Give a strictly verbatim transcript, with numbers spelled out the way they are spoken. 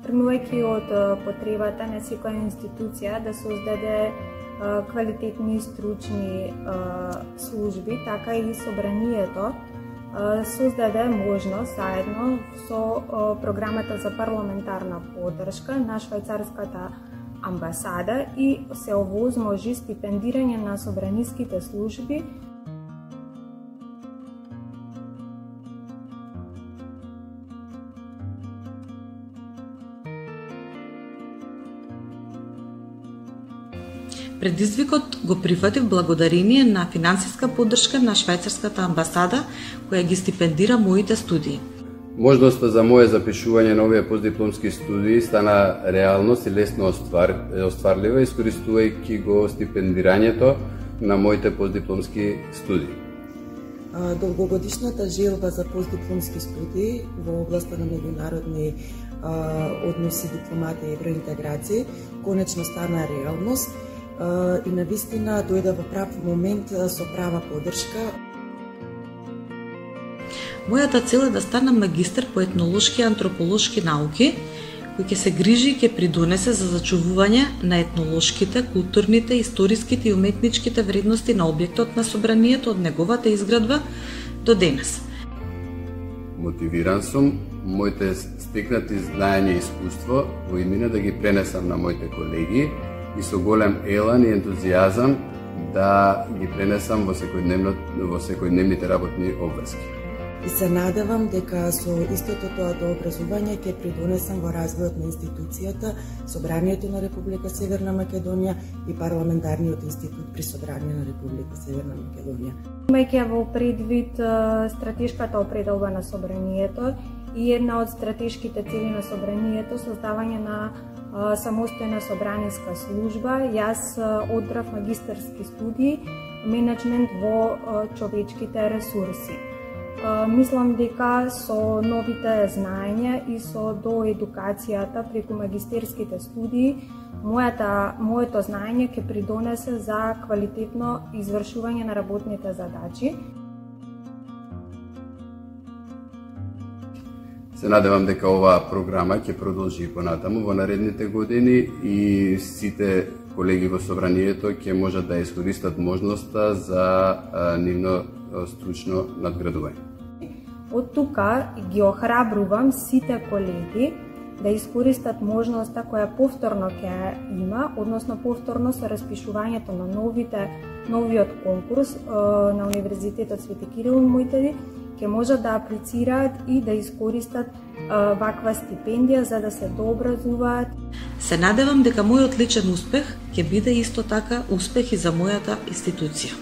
тргнувајќи од потребата на секоја институција да создаде квалитетни стручни служби, така и собранието создаде можност заедно со програмата за парламентарна поддршка на швајцарската амбасада и се овозможи стипендирање на собраниските служби. Предизвикот го прифатив благодарение на финансиска поддршка на швајцарската амбасада, која ги стипендира моите студии. Можноста за моје запишување на овие постдипломски студии стана реалност и лесно оствар, остварлива, искористувајќи го стипендирањето на моите постдипломски студии. Долгогодишната желба за постдипломски студии во областа на меѓународни односи, дипломатија и евроинтеграција конечно стана реалност и навистина дојде во прав момент со права поддршка. Мојата цел е да станам магистар по етнолошки и антрополошки науки, кој ќе се грижи и ќе придонесе за зачувување на етнолошките, културните, историските и уметничките вредности на објектот на собранието од неговата изградба до денес. Мотивиран сум моите стекнати знаење и искуство во иднина да ги пренесам на моите колеги и со голем елан и ентузијазам да ги пренесам во секојдневно во секојдневните работни обврски. И се надевам дека со истото тоа до образување ќе придонесам во развојот на институцијата, Собранието на Република Северна Македонија и Парламентарниот институт при Собрание на Република Северна Македонија. Имајќи во предвид стратешката определба на Собранието и една од стратешките цели на Собранието, создавање на самостојна собраниска служба, јас одбрав магистарски студии, менеджмент во човечките ресурси. Мислам дека со новите знаења и со доедукацијата преку магистерските студии, мојата, моето знаење ќе придонесе за квалитетно извршување на работните задачи. Се надевам дека оваа програма ќе продолжи понатаму во наредните години и сите колеги во Собранието ќе можат да искористат можноста за нивно стручно надградување. Од тука ги охрабрувам сите колеги да искористат можноста која повторно ќе има, односно повторно со распишувањето на новите новиот конкурс на Универзитетот Свети Кирил и Методи, ќе можат да аплицираат и да искористат ваква стипендија за да се дообразуваат. Се надевам дека мојот личен успех ќе биде исто така успех и за мојата институција.